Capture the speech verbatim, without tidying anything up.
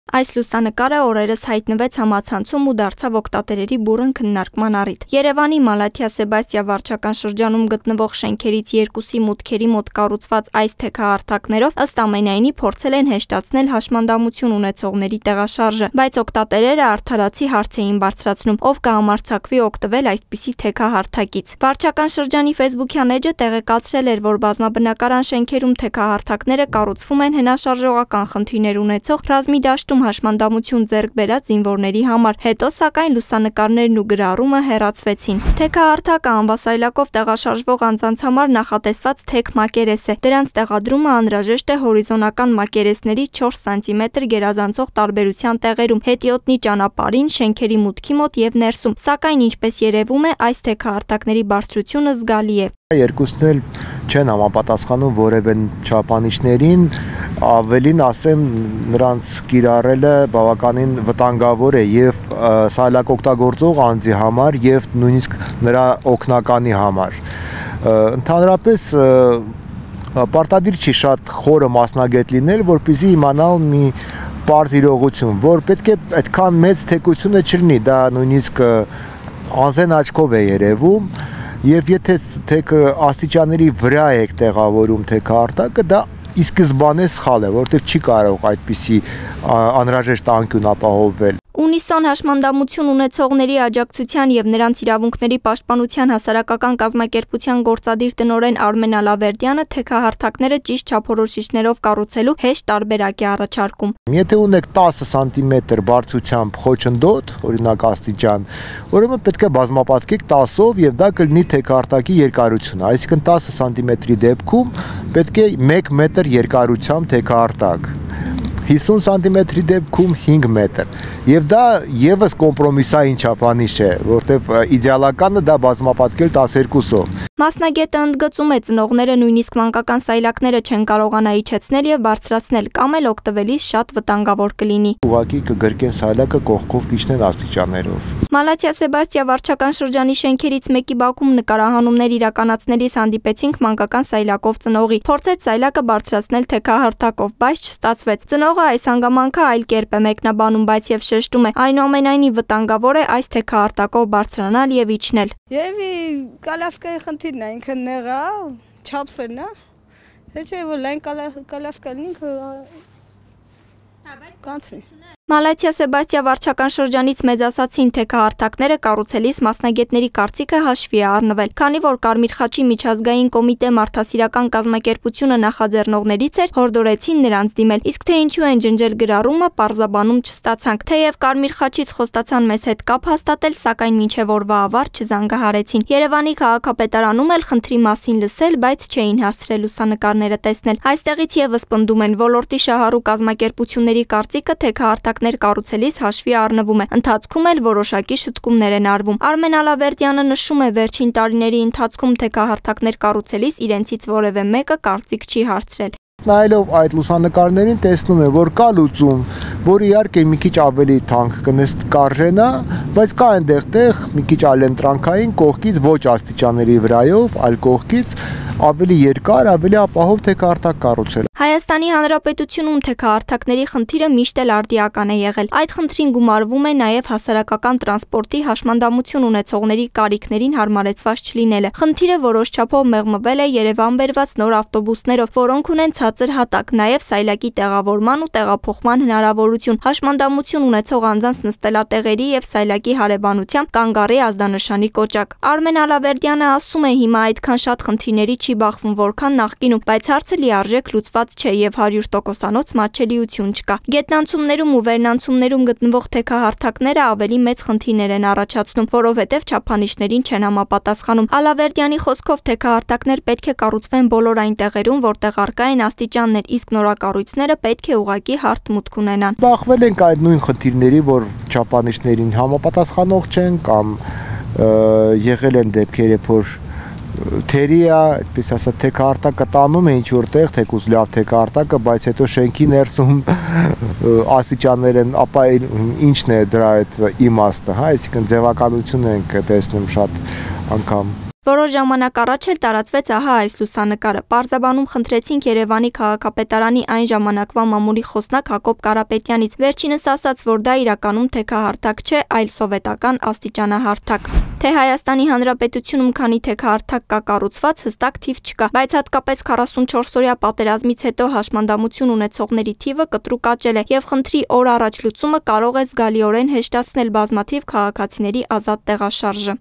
Այս լուսանկարը օրերս հայտնվեց համացանցում ու դարձավ օգտատերերի բուռն քննարկման առիթ։ Երևանի Մալաթիա-Սեբաստիա վարչական շրջանում գտնվող շենքերից երկուսի մուտքերի մոտ կառուցված այս թեքահարթակներով ըստ ամենայնի փորձել են հեշտացնել հաշմանդամություն ունեցողների տեղաշարժը, բայց օգտատերերը արդարացի հարց էին բարձրացնում, ով կհամարձակվի օգտվել այսպիսի թեքահարթակից։ Վարչական շրջանի ֆեյսբուքյան էջը տեղեկացրել էր, որ բազմաբնակարան շենքերում թեքահարթակները կառուցվում են հնաշարժողական խնդիրներ ունեցող ռազմի դաշտում հաշմանդամություն ձեռք բերած զինվորների համար, հետո սակայն լուսանկարներն ու գրառումը հեռացվեցին։ Թեքահարթակը անվասայլակով տեղաշարժվող անձանց համար նախատեսված թեք մակերես է։ Դրանց տեղադրումը անհրաժեշտ է հորիզոնական մակերեսների չորս սանտիմետր գերազանցող տարբերության տեղերում, հետիոտնի ճանապարհին, շենքերի մուտքի մոտ եւ ներսում, սակայն ինչպես երևում է, այս թեքահարթակների բարձրությունը զգալի է։ Երկուսն էլ չեն համապատասխանում որևէ չափանիշներին, ավելին ասեմ, նրանց կիրառելը բավականին վտանգավոր է եւ սայլակ օգտագործող անձի համար եւ նույնիսկ նրա օգնականի համար։ Ընդհանրապես պարտադիր չի շատ խորը մասնագետ լինել, որպեսզի իմանալ մի պարզ իրողություն, որ պետք է այդքան մեծ թեկությունը չլինի, դա նույնիսկ անզեն աչքով է երևում, եւ եթե թեքը աստիճանների վրա եք տեղավորում թեքահարթակը, դա ի սկզբանե սխալ է, որովհետեւ չի կարող այդպիսի անհրաժեշտ անկյուն ապահովել։ Ունիսոն հաշմանդամություն ունեցողների աջակցության եւ նրանց իրավունքների պաշտպանության հասարակական կազմակերպության գործադիր տնօրեն Արմեն Ալավերդյանը թեքահարթակները ճիշտ չափորոշիչներով կառուցելու հեշտ տարբերակ է առաջարկում։ Եթե ունեք տասը սանտիմետր բարձրությամբ խոչընդոտ, օրինակ աստիճան, ուրեմն պետք է բազմապատկեք տասով եւ դա կլինի թեքահարթակի երկարությունը, այսինքն տասը սանտիմետրի դեպքում պետք է մեկ մետր երկարությամբ թեքահարթակ, հիսուն սանտիմետրի դեպքում հինգ մետր։ Եվ դա եւս կոմպրոմիսային չափանիշ է, որտեվ իդեալականը դա բազմապատկել տասներկուսով։ Մասնագետը ընդգծում է, ծնողները նույնիսկ մանկական սայլակները չեն կարողանա իջեցնել եւ բարձրացնել կամ էլ օգտվելիս շատ վտանգավոր կլինի։ Ուղղակի կգրկեն սայլակը կողքով կիջնեն աստիճաններով։ Մալաթիա-Սեբաստիա վարչական շրջանի շենքերից մեկի բակում նկարահանումներ իրականացնելիս հանդիպեցինք մանկական սայլակով ծնողի։ Փորձեց սայլակը բարձրացնել թեքահարթակով, բայց չստացվեց։ Ծնողը այս հանգամանքը այլ կերպ է մեկնաբանում, բայց եւ շեշտում է, այնուամենայնիվ վտանգավոր է այս թեքահարթակով բարձրանալ եւ իջնել։ Երևի կալավկայի խնդիրն է, ինքը նեղա, չափսն է։ Թե չէ որ լայն կալավկա լինք կանցնի։ Մալաթիա-Սեբաստիա վարչական շրջանից մեծացածին թեքահարթակները կառուցելիս մասնագետների կարծիքը հաշվի է առնվել, քանի որ Կարմիր խաչի միջազգային կոմիտե մարդասիրական կազմակերպությունը նախաձեռնողներից էր, հորդորեցին նրանց դիմել, իսկ թե ինչու են ջնջել գրառումը, պարզաբանում չստացանք, թեև Կարմիր խաչից խոստացան մեզ հետ կապ հաստատել, սակայն մինչև օրվա ավար չզանգահարեցին։ Երևանի քաղաքապետարանում էլ խնդրի մասին լսել, բայց չէին հասցրել լուսանկարները տեսնել։ Այստեղից եւս պնդում են ոլորտի շահառու կազմակերպությունների կարծիքը թեքահարթակներ կառուցելիս հաշվի առնվում է, ընթացքում էլ որոշակի շտկումներ են արվում։ Արմեն Ալավերդյանը նշում է, վերջին տարիների ընթացքում թեքահարթակներ կառուցելիս իրենցից որևէ մեկը կարծիք չի հարցրել։ Նայելով այդ լուսանկարներին տեսնում է, որ կա լուծում, որ իհարկե մի քիչ ավելի թանկ կնստկարժենա, բայց կա այնտեղ տեղ մի քիչ այլընտրանքային կողքից ոչ աստիճանների վրայով, այլ կողքից ավելի երկար, ավելի ապահով թեքահարթակ կառուցել։ Հայաստանի Հանրապետությունում թեքահարթակների խնդիրը միշտ էլ արդիական է եղել։ Այդ խնդրին գումարվում է նաև հասարակական տրանսպորտի հաշմանդամություն ունեցողների կարիքներին հարմարեցված չլինելը։ Խնդիրը որոշ չափով մեղմվել է Երևան բերված նոր ավտոբուսներով, որոնք ունեն ցածր հատակ, նաև սայլակի տեղավորման ու տեղափոխման հնարավորություն, հաշմանդամություն ունեցող անձանց նստելատեղերի եւ սայլակի հարևանությամբ կանգառի ազդանշանի կոճակ։ Արմեն Ալավերդյանը ասում է, հիմա այդքան շատ խնդիրների չի բախվում, որքան նախկինում, բայց հարցը լիարժեք լուծված չէ եւ հարյուր տոկոսանոց մատչելիություն չկա։ Գետնանցումներում ու վերնանցումներում գտնվող թեքահարթակները ավելի մեծ խնդիրներ են առաջացնում, որովհետեւ չափանիշներին չեն համապատասխանում։ Ալավերդյանի խոսքով թեքահարթակներ պետք է կառուցվեն բոլոր այն տեղերում, որտեղ առկա են աստիճաններ, իսկ նորակառույցները պետք է ուղղակի հարթ մուտք ունենան։ Բախվել ենք այդ նույն խնդիրների, որ չափանիշներին համապատասխանող չեն կամ եղել են դեպքեր, որ թերիա, այդպես ասած, թեքահարթակը տանում է ինչ որտեղ, թեկուզ լավ թեքահարթակը, բայց հետո շենքի ներսում աստիճաններ են, ապա ինչն է դրա այդ իմաստը, հա, այսինքն ձևականություն ենք տեսնում շատ անգամ։ Որոշ ժամանակ առաջ էլ տարածվեց ահա այս լուսանկարը։ Պարզաբանում խնդրեցինք Երևանի քաղաքապետարանի այն ժամանակվա մամուլի խոսնակ Հակոբ Կարապետյանից։ Վերջինս ասաց, որ դա իրականում թեքահարթակ չէ, այլ սովետական աստիճանահարթակ։ Թե Հայաստանի Հանրապետությունում քանի թեքահարթակ կա կառուցված, հստակ թիվ չկա, բայց հատկապես քառասունչորսօրյա պատերազմից հետո հաշմանդամություն ունեցողների թիվը կտրուկ աճել է, եւ խնդրի օր առաջ լուծումը կարող է զգալիորեն հեշտացնել բազմաթիվ քաղաքացիների ազատ տեղաշարժը։